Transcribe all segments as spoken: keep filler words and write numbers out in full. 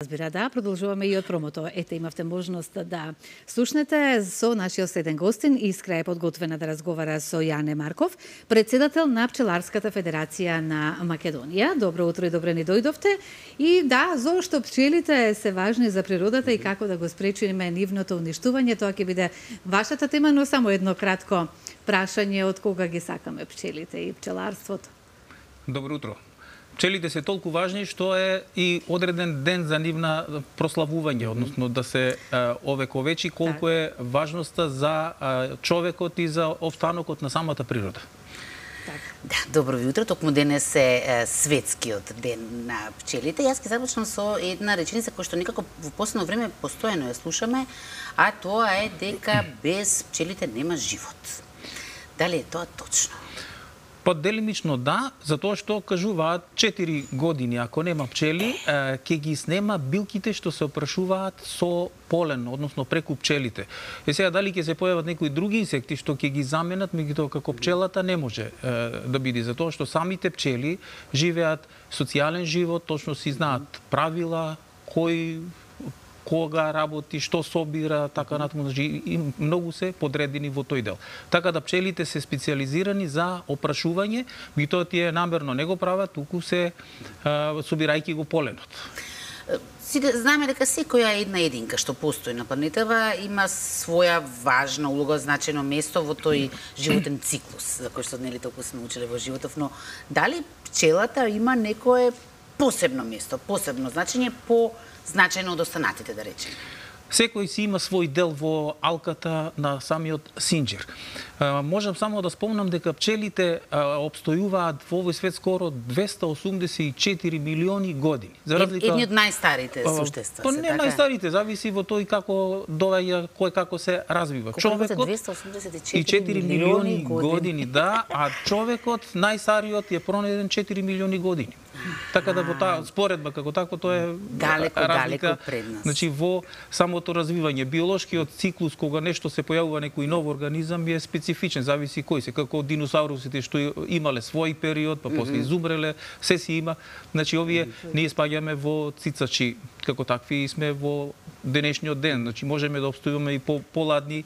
Разбира, да, продолжуваме и од промото. Ете, имавте можност да слушнете со нашиот следен гостин. Искра е подготвена да разговара со Јане Марков, председател на Пчеларската федерација на Македонија. Добро утро и добре ни дојдовте. И да, зошто пчелите се важни за природата и како да го спречиме нивното уништување, тоа ќе биде вашата тема, но само едно кратко прашање од кога ги сакаме пчелите и пчеларството. Добро утро. Пчелите се толку важни што е и одреден ден за нивна прославување, односно да се овековечи колку е важноста за човекот и за останокот на самата природа. Да, добро ви утро. Токму денес е светскиот ден на пчелите. Јас ќе започнам со една реченица која што некако во последно време постојано ја слушаме, а тоа е дека без пчелите нема живот. Дали е тоа точно? Па делимично да, затоа што кажуваат четири години ако нема пчели, ќе ги снема билките што се опрашуваат со полен, односно преку пчелите. И сега дали ќе се појават некои други инсекти што ќе ги заменат, меѓутоа како пчелата не може е, да биде, затоа што самите пчели живеат социјален живот, точно си знаат правила, кој кога работи, што собира, така натаму, значи и многу се подредени во тој дел. Така да пчелите се специализирани за опрашување, меѓутоа тие намерно не го прават, туку се а, собирајќи го поленот. Сите знаеме дека секоја една единка што постои на планетава има своја важна улога, значајно место во тој животен циклус, за кој што нели толку сме учеле во животов, но дали пчелата има некое посебно место, посебно значење по значајно од останатите, да речеме? Секој си има свој дел во алката на самиот синџир. Можам само да спомнам дека пчелите обстојуваат во овој свет скоро двесте осумдесет и четири милиони години. За разлика... Едни од најстарите суштества. Па не така? Најстарите, зависи во тој како доаѓа, кој како се развива. Колко човекот двесте осумдесет и четири милиони години. години, да, а човекот најстариот е пронеден четири милиони години. Така да во таа споредба како такво тоа е далеко, разлика, далеко пред нас. Значи во самото развивање, биолошкиот циклус кога нешто се појавува некој нов организам е специфичен, зависи кој се, како диносаурусите што имале свој период, па после изумреле, се си има. Значи овие ние спаѓаме во цицачи како такви и сме во денешниот ден, значи можеме да обстојуваме и по поладни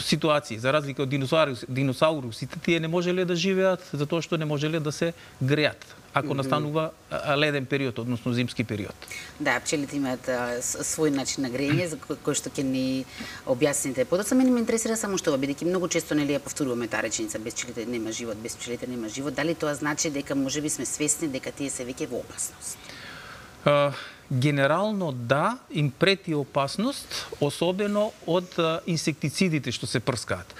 ситуации, за разлика од диносаурус, диносаурусите, тие не можеле да живеат затоа што не можеле да се греат ако настанува леден период, односно зимски период. Да, пчелите имаат свој начин на грење, за кој што ќе ни објасните подоцна. Мене ме интересира само што, бидејќи многу често нели ја повторуваме таа реченица без пчелите нема живот, без пчелите нема живот. Дали тоа значи дека можеби сме свесни дека тие се веќе во опасност? Uh, Генерално да, им прети опасност, особено од а, инсектицидите што се прскаат.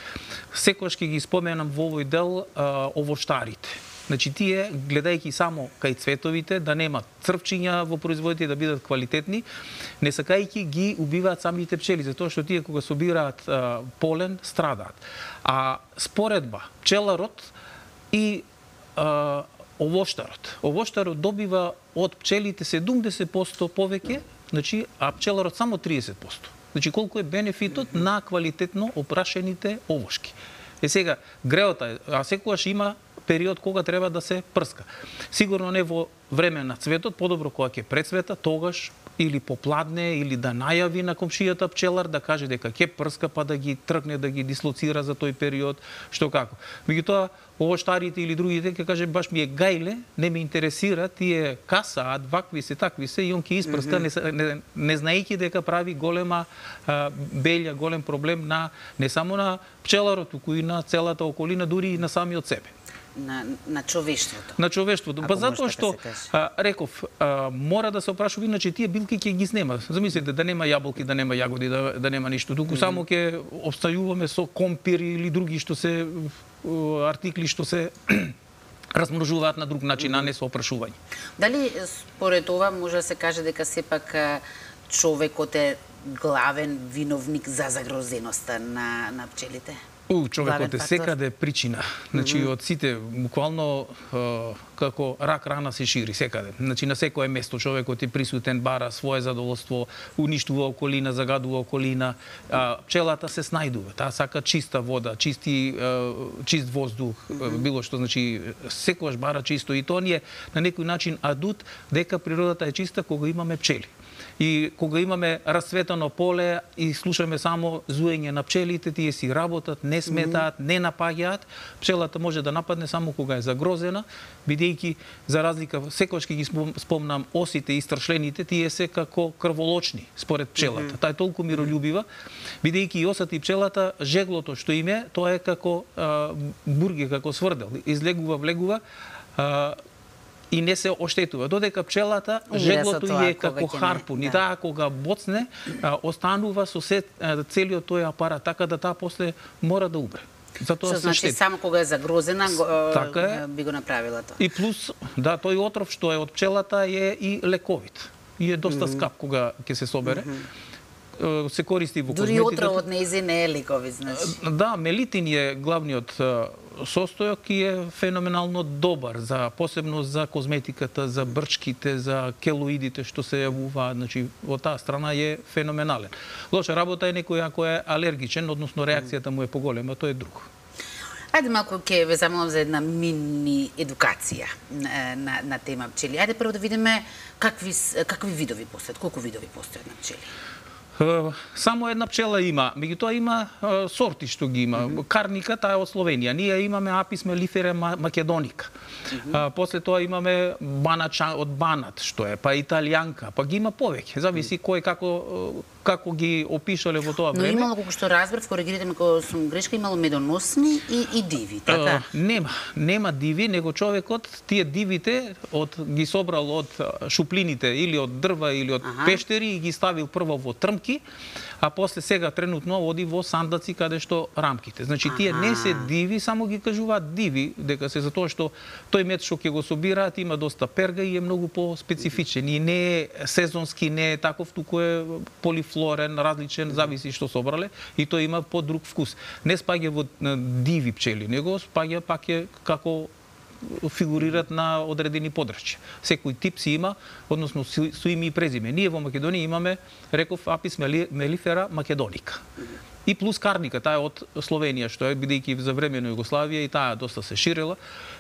Секогаш ќе ги споменам во овој дел а, овоштарите. Значи тие, гледајќи само кај цветовите, да нема црвчиња во производите, да бидат квалитетни, не сакајќи ги убиваат самите пчели, затоа што тие кога собираат а, полен, страдаат. А споредба, пчеларот и а, овоштарот. Овоштарот добива од пчелите седумдесет проценти повеќе, значи, а пчеларот само тридесет проценти. Значи, колку е бенефитот на квалитетно опрашените овошки. Е сега, греота, а секогаш има период кога треба да се прска. Сигурно не во време на цветот, подобро кога ќе прецвета, тогаш или попладне, или да најави на комшијата пчелар, да каже дека ќе прска, па да ги тргне, да ги дислоцира за тој период, што како. Меѓутоа, овоштарите или другите ќе каже баш ми е гајле, не ме интересира, тие касаат, вакви се, такви се, и он ќе испрска, mm -hmm. не, не, не знаејќи дека прави голема а, белја, голем проблем на не само на пчеларот, туку и на целата околина, дури и на самиот себе. На, на човештвото. На човештвото. Па затоа што, а, реков, а, мора да се опрашува, иначе тие билки ќе ги снема. Замислите, да нема јаболки, да нема јагоди, да, да нема ништо. Туку mm -hmm. само ќе обстајуваме со компири или други што се артикли што се размножуваат на друг начин, а не со опрашување. Дали според ова може да се каже дека сепак човекот е главен виновник за загрозеноста на, на пчелите? У, човекот е секаде причина. Значи, од сите, буквално, како рак рана се шири секаде. Значи, на секое место човекот е присутен, бара свое задоволство, уништува околина, загадува околина. Пчелата се снајдува. Таа сака чиста вода, чисти, чист воздух, било што, значи, секогаш бара чисто. И тоа ни е на некој начин адут дека природата е чиста кога имаме пчели. И кога имаме расцветано поле и слушаме само зуење на пчелите, тие си работат, не сметаат, не напаѓаат, пчелата може да нападне само кога е загрозена, бидејќи за разлика, секогаш ќе ги спомнам осите и страшлените, тие се како крволочни според пчелата. Таа е толку мирољубива, бидејќи и осата и пчелата, жеглото што им е, тоа е како а, бурге, како сврдел, излегува, влегува, а, и не се оштетува. Додека пчелата, жеглото е како харпун. И таа кога боцне, останува со се целиот тој апарат, така да таа после мора да умре. Затоа што значи само кога е загрозена така е. Би го направила тоа. И плюс, да, тој отров што е од пчелата е и лековит. И е доста скап кога ќе се собере. Се користи во козметиката. Дури отровот нејзи не е лековит, значи. Да, мелитин е главниот состојок и е феноменално добар за посебно за козметиката, за брчките, за келоидите што се јавуваат, значи во таа страна е феноменален. Лоша работа е некој ако е алергичен, односно реакцијата му е поголема, тоа е друго. Ајде малку ќе ве замолам за една мини едукација на, на, на тема пчели. Ајде прво да видиме какви какви видови постојат, колку видови постојат на пчели. Само една пчела има, меѓутоа има сорти што ги има. Карника, таа е од Словенија. Ние имаме Апис мелифера македоника. После тоа имаме банача од Банат, што е, па италијанка, па ги има повеќе. Зависи кој како како ги опишале во тоа време. Но имало, колку што разбрав, коригирате ме кога сум грешка, имало медоносни и, и диви, така? Uh, нема, нема диви, него човекот тие дивите од ги собрал од шуплините или од дрва или од ага. пештери и ги ставил прво во трмки, а после сега тренутно оди во сандаци каде што рамките. Значи тие ага. не се диви, само ги кажуваат диви, дека се затоа што тој мед што ќе го собираат има доста перга и е многу по-специфичен и не е сезонски, не е таков, туку е полифлорен, различен, зависи што собрале и тој има по-друг вкус. Не спаѓа во диви пчели, него спаѓа пак е како фигурират на одредени подрачја. Секој тип си има, односно со име и презиме. Ние во Македонија имаме, реков, Апис мелифера македоника. И плюс карника, таа е од Словенија, што е, бидејќи за време на Југославија и таа доста се ширела.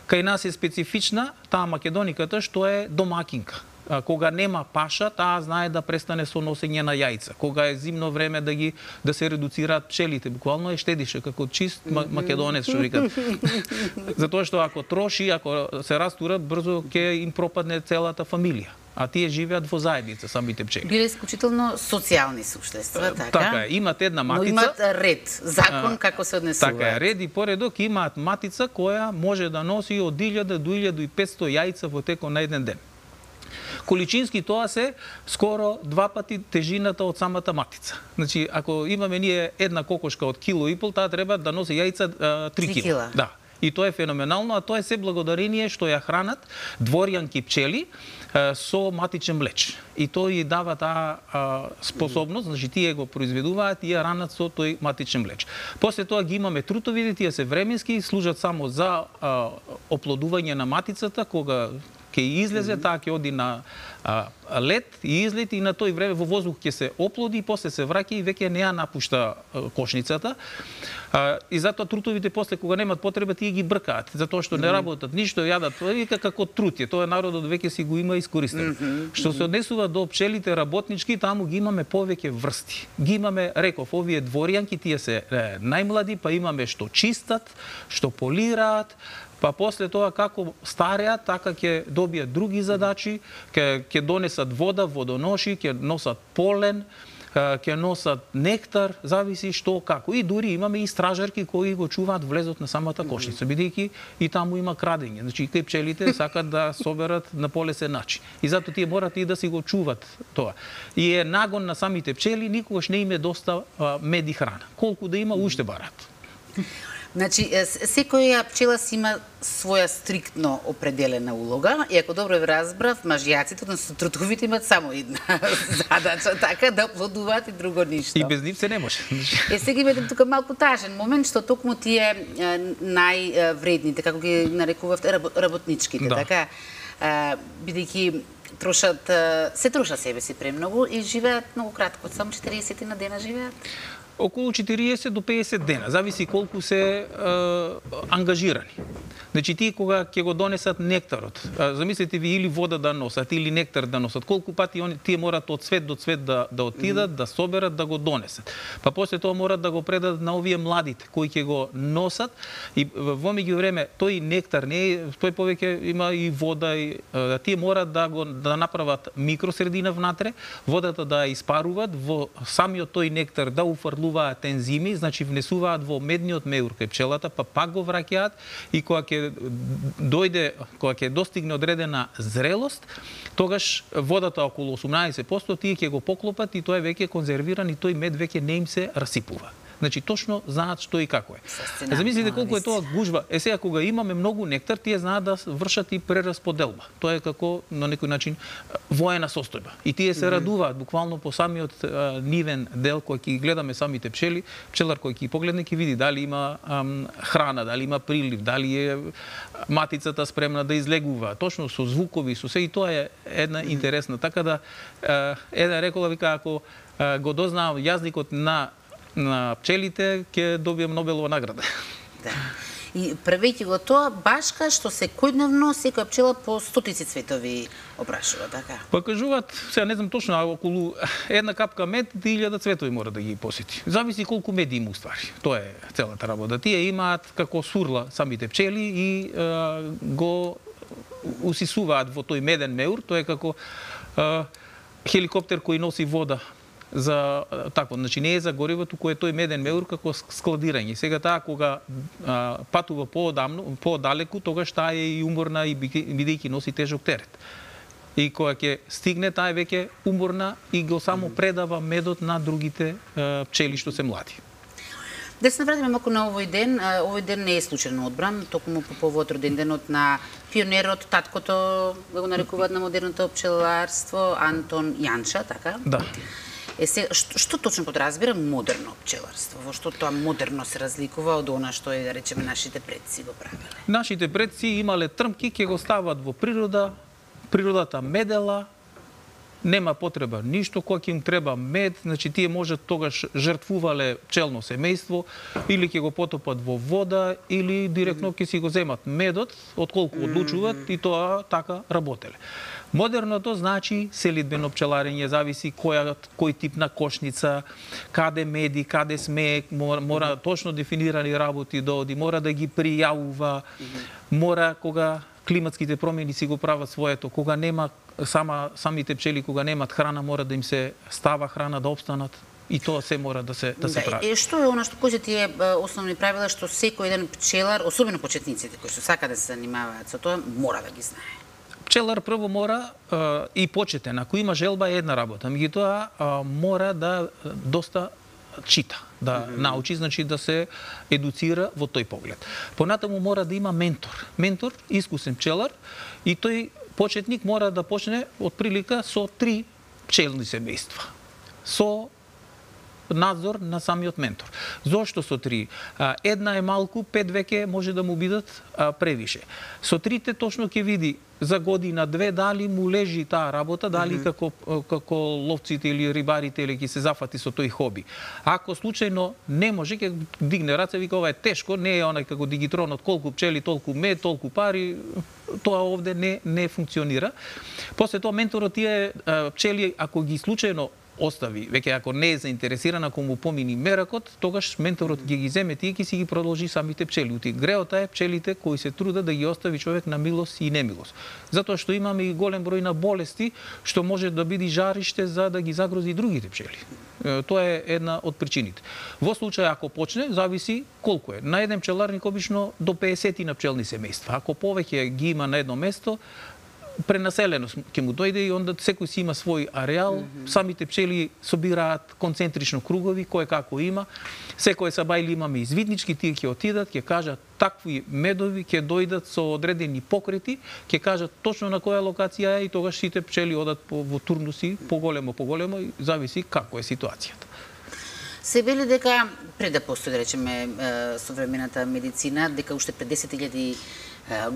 Кај нас е специфична таа македониката што е домакинка. Кога нема паша, таа знае да престане со носење на јајца. Кога е зимно време да ги да се редуцираат пчелите, буквално е штедише како чист македонец, што викат. Затоа што ако троши, ако се растура, брзо ќе им пропадне целата фамилија. А тие живеат во заедница, самите пчели. Биле исклучително социјални суштества, така? Така е, имат една матица. Но имат ред, закон а, како се однесуваат. Така е, ред и поредок имаат матица која може да носи од илјада до илјада и петсто јајца во текот на еден ден. Количински тоа се скоро два пати тежината од самата матица. Значи, ако имаме ние една кокошка од кило и пол, таа треба да носи јајца три кила. Да. И тоа е феноменално, а тоа е се благодарение што ја хранат дворјанки пчели со матичен млеч. И тој ја дава таа способност, значи тие го произведуваат и ја ранат со тој матичен млеч. После тоа ги имаме трутовите, тие се временски, служат само за а, оплодување на матицата, кога ќе излезе, таа ќе оди на а, лет и излети и на тој време во воздух ќе се оплоди и после се враќа и веќе не ја напушта а, кошницата. А, и затоа трутовите после кога немат потреба тие ги бркаат, затоа што не работат ништо, јадат вика како трутје. Тоа народот веќе си го има искористено. Mm -hmm. Што се однесува до пчелите работнички, таму ги имаме повеќе врсти. Ги имаме, реков, овие дворјанки, тие се е, најмлади, па имаме што чистат, што полираат, па после тоа како стареат, така ќе добијат други задачи, ќе ќе донесат вода, водоноши, ќе носат полен, ќе носат нектар, зависи што како. И дури имаме и стражарки кои го чуваат влезот на самата кошница, бидејќи и таму има крадење. Значи кај пчелите сакат да соберат на полесен начин. И затоа тие морат и да си го чуват тоа. И е нагон на самите пчели, никогаш не им е доста мед и храна. Колку да има, уште барат. Значи, секоја пчела си има своја стриктно определена улога и ако добро ве разбрав, мажјаците, односно трутовите имаат само една задача, така да плодуваат и друго ништо. И без нив се не може. Е, сега има тука малку тажен момент, што токму тие највредните, како ги нарекувавте, работничките, да. така, бидејќи трошат, се трошат себе си премногу и живеат многу кратко, само четириесет на дена живеат. Околу четириесет до пеесет дена, зависи колку се е, ангажирани. Значи тие кога ќе го донесат нектарот, замислите ви или вода да носат или нектар да носат, колку пати они тие морат од цвет до цвет да да отидат, mm. да соберат, да го донесат. Па после тоа морат да го предадат на овие младите кои ќе го носат и во меѓувреме тој нектар не е, тој повеќе има и вода и тие морат да го да направат микросредина внатре, водата да ја испаруваат, во самиот тој нектар да уфрлуваат ензими, значи внесуваат во медниот меур кај пчелата, па пак го враќаат и кога ќе дојде, кога ќе достигне одредена зрелост, тогаш водата околу осумнаесет проценти тие ќе го поклопат и тоа е веќе конзервиран и тој мед веќе не им се расипува. Значи точно знаат што и како е. Замислите колку е тоа гужва. Е сега кога имаме многу нектар, тие знаат да вршат и прерасподелба. Тоа е како на некој начин воена состојба. И тие се радуваат буквално по самиот а, нивен дел кој ќе гледаме самите пчели, пчелар кој ќе погледне ќе види дали има ам, храна, дали има прилив, дали е матицата спремна да излегува. Точно со звукови, со се и тоа е една интересна. Така да а, една рекола вика ако а, го дознаам јазникот на на пчелите, ќе добием Нобелова награда. Да. И правејќи го тоа, башка што секојдневно секоја пчела по стотици цветови опрашува, така? Па кажуваат, сега не знам точно, а околу една капка мед и илјада цветови мора да ги посети. Зависи колку мед има уствари. Тоа е целата работа. Тие имаат како сурла самите пчели и а, го усисуваат во тој меден меур, тоа е како а, хеликоптер кој носи вода за такво, значи не е за гориво, туку е тој меден меур како складирање. Сега таа кога а, патува поодамно, подалеку, тогаш таа е и уморна и бидејќи носи тежок терет. И кога ќе стигне, таа е веќе уморна и го само предава медот на другите а, пчели што се млади. Да се навратиме малку на овој ден. Овој ден не е случајно одбран, токму по повод роден денот на пионерот, таткото, да го нарекуваат на модерното пчеларство, Антон Јанча, така? Да. Е, се, што, што точно подразбира модерно пчеларство? Во што тоа модерно се разликува од она што е, да речеме, нашите предци го правеле? Нашите предци имале трмки, ќе го стават во природа, природата медела, нема потреба ништо, кога ќе им треба мед, значи тие можат тогаш жртвувале пчелно семејство, или ќе го потопат во вода, или директно ќе си го земат медот, отколку одлучуваат и тоа така работеле. Модерното значи селидбено пчеларење, зависи која, кој тип на кошница, каде меди, каде смее, мора, мора точно дефинирани работи да оди, мора да ги пријавува, мора кога климатските промени си го прават своето, кога нема сама самите пчели кога немат храна, мора да им се става храна да опстанат. И тоа се мора да се да се да, прави. Е, што е она што кои се тие основни правила што секој еден пчелар, особено почетниците кои што сака да се занимаваат со тоа, мора да ги знае? Пчелар прво мора а, и почетен, ако има желба е една работа, меѓутоа мора да доста чита, да mm -hmm. научи, значи да се едуцира во тој поглед. Понатаму мора да има ментор. Ментор, искусен пчелар, и тој почетник мора да почне од прилика со три пчелни семејства. Со надзор на самиот ментор. Зошто со три? Една е малку, пет веќе може да му бидат превише. Со трите точно ќе види за година две дали му лежи таа работа, дали mm -hmm. како како ловците или рибарите или ќе се зафати со тој хоби. Ако случајно не може, ќе дигне раце, вика ова е тешко, не е онај како дигитронот, колку пчели, толку мед, толку пари, тоа овде не не функционира. После тоа менторот тие пчели ако ги случајно остави, веќе ако не е заинтересиран, ако му помини меракот, тогаш менторот ќе ги земе тие, ќе си ги продолжи самите пчели. Ути греота е пчелите кои се трудат да ги остави човек на милост и немилост. Затоа што имаме и голем број на болести што може да биде жариште за да ги загрози другите пчели. Тоа е една од причините. Во случај ако почне, зависи колку е. На еден пчеларник обично до пеесет на пчелни семејства. Ако повеќе ги има на едно место, пренаселеност ќе му дојде и онда секој си има свој ареал, mm -hmm. самите пчели собираат концентрично кругови, кој како има. Секој сабајли имаме извиднички, тие ќе отидат, ќе кажат такви медови, ќе дојдат со одредени покрети, ќе кажат точно на која локација е и тогаш сите пчели одат по, во турнуси, поголемо, поголемо, и зависи како е ситуацијата. Се вели дека пред да постои, да речеме, современата медицина, дека уште пред десет илјади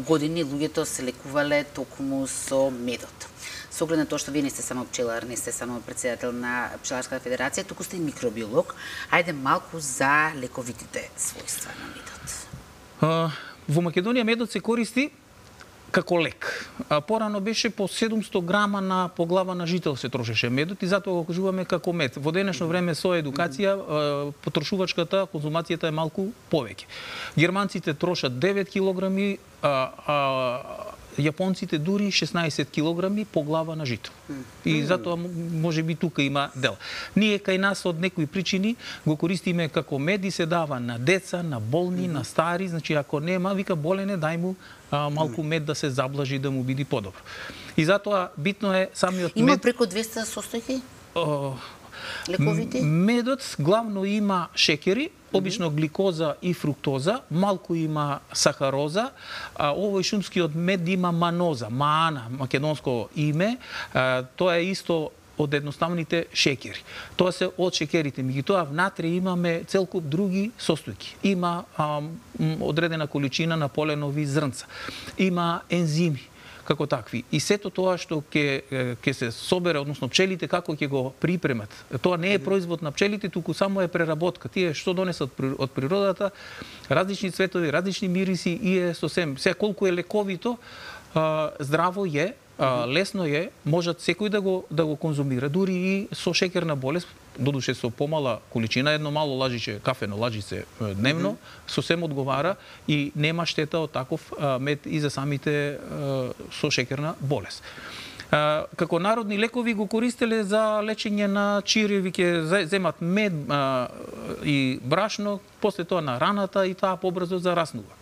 години луѓето се лекувале токму со медот. Со оглед на тоа што вие не сте само пчелар, не сте само председател на Пчеларската федерација, туку сте и микробиолог. Ајде малку за лековитите својства на медот. А, во Македонија медот се користи како лек. А, порано беше по седумсто грама на по глава на жител се трошеше медот и затоа го кажуваме како мед. Во денешно време со едукација потрошувачката конзумацијата е малку повеќе. Германците трошат девет килограми, а, а јапонците дури шеснаесет килограми по глава на жител. И затоа може би тука има дел. Ние кај нас од некои причини го користиме како мед и се дава на деца, на болни, на стари, значи ако нема, вика болене, дај му а, малку мед да се заблажи да му биде подобро. И затоа битно е самиот има мед. Има преку двеста состојки? О, лековите? Медот главно има шекери, обично гликоза и фруктоза, малку има сахароза, а овој шумскиот мед има маноза, маана, македонско име, а, тоа е исто од едноставните шекери. Тоа се од шекерите, меѓутоа внатре имаме цел куп други состојки. Има а, одредена количина на поленови зрнца, има ензими како такви. И сето тоа што ќе ќе се собере, односно пчелите како ќе го припремат. Тоа не е производ на пчелите, туку само е преработка. Тие што донесат од природата, различни цветови, различни мириси и е сосем. Се колку е лековито, здраво е, лесно е, можат секој да го да го конзумира, дури и со шекерна болест, додуше со помала количина, едно мало лажиче, кафено лажице дневно, mm -hmm. сосем одговара и нема штета од таков мед и за самите со шекерна болест. Како народни лекови го користеле за лечење на чиреви, ќе земат мед и брашно, после тоа на раната и таа побрзо зараснува.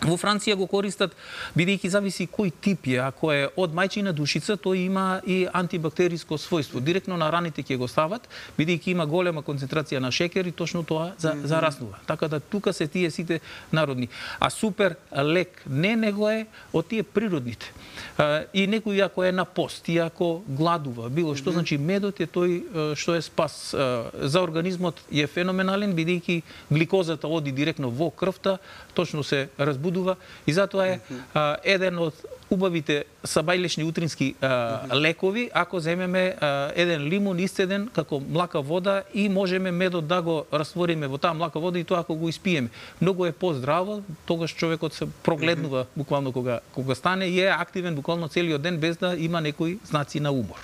Во Франција го користат, бидејќи зависи кој тип е, ако е од мајчина душица, тој има и антибактериско својство. Директно на раните ќе го стават, бидејќи има голема концентрација на шекер и точно тоа за, mm -hmm. зараснува. Така да тука се тие сите народни. А супер лек не него е од тие природните. А, и некој ако е на пост, и ако гладува, било што, mm -hmm. значи медот е тој што е спас. А, за организмот е феноменален, бидејќи гликозата оди директно во крвта, точно се разбудува и затоа е а, еден од убавите сабајлешни утрински а, лекови, ако земеме а, еден лимун исцеден како млака вода и можеме медот да го раствориме во таа млака вода и тоа ако го испиеме. Многу е поздраво, тогаш човекот се прогледнува буквално кога кога стане и е активен буквално целиот ден без да има некои знаци на умор.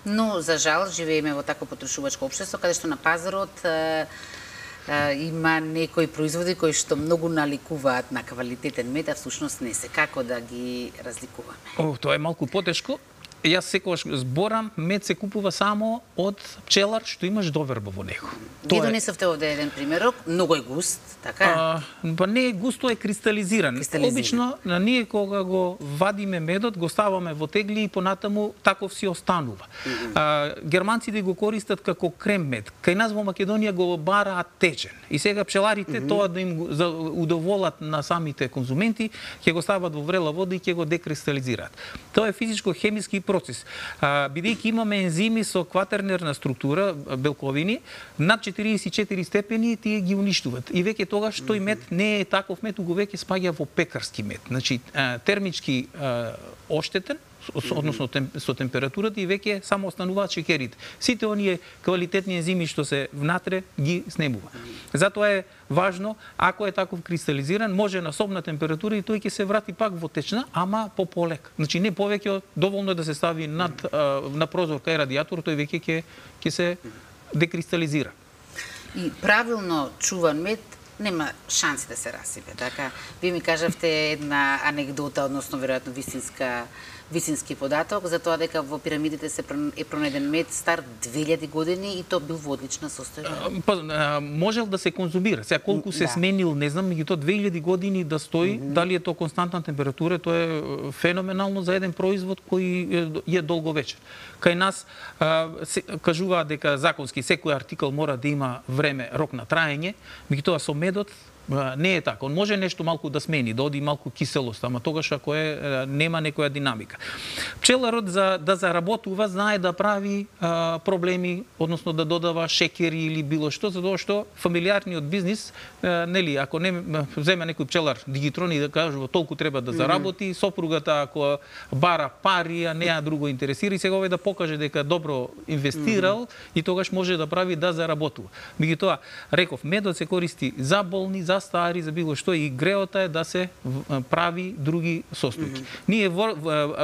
Но за жал живееме во такво потрошувачко општество каде што на пазарот има некои производи кои што многу наликуваат на квалитетен мед, а всушност не се. Како да ги разликуваме? О, тоа е малку потешко. Јас секогаш зборам, мед се купува само од пчелар што имаш доверба во него. Ги донесовте овде еден примерок, многу е густ, така? А, па не е густ, тоа е кристализиран. кристализиран. Обично, на ние кога го вадиме медот, го ставаме во тегли и понатаму таков си останува. Mm -hmm. а, германците го користат како крем мед. Кај нас во Македонија го бараат течен. И сега пчеларите, mm -hmm. тоа да им удоволат на самите конзументи, ќе го стават во врела вода и ќе го декристализираат. Тоа е физичко-хемиски процес. А, бидејќи имаме ензими со кватернерна структура, белковини, над четириесет и четири степени тие ги уништуваат. И веќе тогаш тој мед не е таков мед, туку веќе спаѓа во пекарски мед. Значи, а, термички а, оштетен, односно тем, со температурата и веќе само остануваат шекерите. Сите оние квалитетни ензими што се внатре ги снемува. Затоа е важно, ако е таков кристализиран, може на собна температура и тој ќе се врати пак во течна, ама по полек. Значи не повеќе, доволно е да се стави над на прозор кај радиатор, тој веќе ќе ќе се декристализира. И правилно чуван мед нема шанси да се расипе, така? Вие ми кажавте една анегдота, односно веројатно вистинска висински податок за тоа дека во пирамидите се е пронеден мед стар две илјади години и тоа бил во одлична состојба. Па, можел да се конзумира. Сега колку се Да. сменил, не знам, меѓутоа две илјади години да стои, дали е тоа константна температура, тоа е феноменално за еден производ кој е долговечен. Кај нас а, се, кажуваат дека законски секој артикал мора да има време, рок на траење, меѓутоа со медот не е така. Он може нешто малку да смени, да оди малку киселост, ама тогаш ако е нема некоја динамика. Пчеларот за да заработува знае да прави а, проблеми, односно да додава шекери или било што, затоа што фамилиарниот бизнис, а, нели, ако не земе некој пчелар дигитрони да кажува толку треба да заработи, сопругата ако бара пари, а неа друго интересира и сега овој да покаже дека добро инвестирал и тогаш може да прави да заработува. Меѓутоа, реков, медот се користи за болни, за стари, за било што и греота е да се прави други состојки. Mm-hmm. Ние во,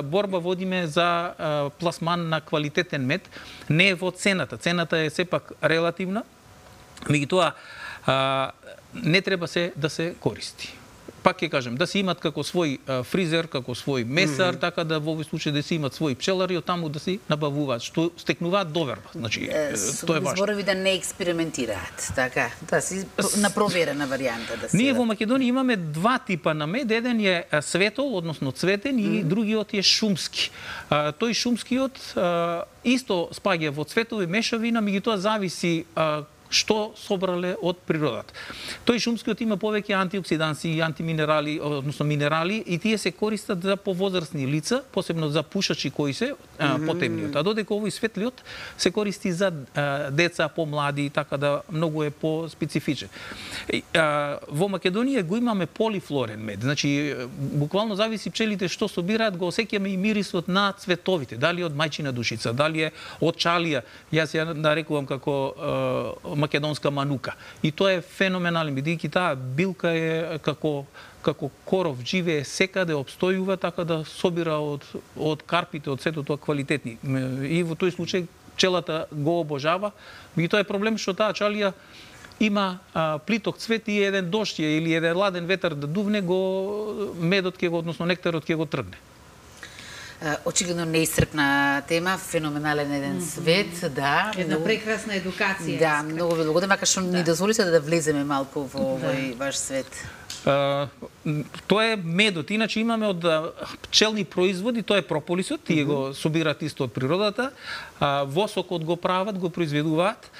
борба водиме за а, пласман на квалитетен мед, не е во цената. Цената е сепак релативна, меѓутоа не треба се да се користи. Пак ќе кажем, да се имат како свој а, фризер, како свој месар, mm -hmm. така да во овој случај да се имат своји пчелари и таму да се набавуваат, што стекнуваат доверба. Значи, е, тоа е важно. Зборови да не експериментираат, така, да си на проверена варијанта да се. Ние во Македонија имаме два типа на мед, еден е светол, односно цветен, и mm -hmm. другиот е шумски. А, тој шумскиот а, исто спаѓа во цветови мешавина, меѓутоа зависи а, што собрале од природата. Тој шумскиот има повеќе антиоксиданси и антиминерали, односно минерали, и тие се користат за повозрастни лица, посебно за пушачи кои се а, потемниот. А додека овој светлиот се користи за а, деца, помлади, така да многу е по-специфичен. А, во Македонија го имаме полифлорен мед. Значи, буквално зависи пчелите што собираат, го осеќаме и мирисот на цветовите, дали од мајчина душица, дали е од чалија. Јас ја нарекувам како а, македонска манука. И тоа е феноменално, бидејќи таа билка е како како коров, живее секаде, обстојува, така да собира од од карпите, од сето тоа квалитетни. И во тој случај пчелата го обожава. И тоа е проблем што таа чалија има а, плиток цвет и еден дожд или еден ладен ветер да дувне, го медот ќе го, односно нектарот ќе го тргне. Очигледно неисцрпна тема, феноменален еден свет, да. Една многу... прекрасна едукација. Да, многу ви благодарам, макар што да. Ни дозволите да влеземе малку во овој да. Ваш свет. Uh, тоа е медот. Иначе имаме од пчелни производи, тоа е прополисот, тие mm -hmm. го собираат исто од природата, uh, восокот го прават, го произведуваат.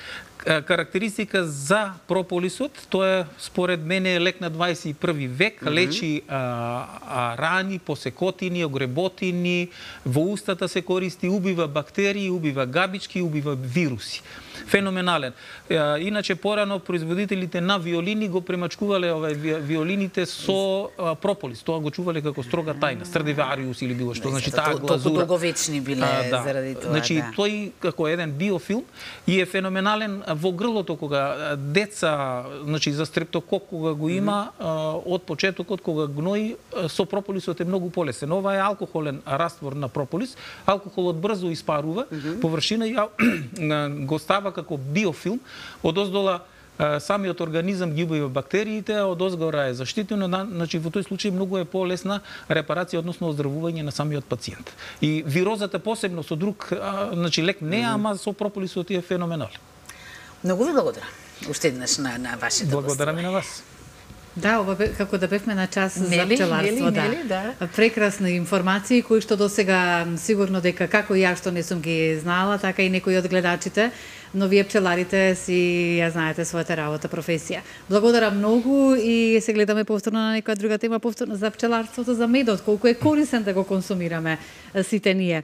Карактеристика за прополисот, тоа е според мене лек на дваесет и први век, mm -hmm. лечи а, а, рани, посекотини, огреботини, во устата се користи, убива бактерии, убива габички, убива вируси. Феноменален. А, иначе порано производителите на виолини го премачкувале овај виолините со а, прополис. Тоа го чувале како строга тајна, Страдивариус или било што. Значи таа глазура. Толку долговечни биле а, да. Заради тоа. Значи да. Тој како еден биофилм и е феноменален во грлото кога деца, значи за стрептокок кога го има mm -hmm. од почетокот кога гнои, со прополисот е многу полесен. Ова е алкохолен раствор на прополис. Алкохолот брзо испарува mm -hmm. површина и го става како биофилм. Одоздола самиот организам ги убива бактериите, а од озгора е заштитено, значи во тој случај многу е полесна репарација, односно оздравување на самиот пациент. И вирозата посебно со друг, значи лек не, mm -hmm. ама со прополисот е феноменален. Многу ви благодарам. Уште еднаш на, на вашето Благодарам и на вас. Да, ова како да бевме на час нели, за пчеларство, нели, да. Нели, да. Прекрасни информации кои што досега сигурно дека како и ја што не сум ги знала, така и некои од гледачите, но вие пчеларите си ја знаете својата работа, професија. Благодарам многу и се гледаме повторно на некоја друга тема, повторно за пчеларството, за медот, колку е корисен да го консумираме сите ние.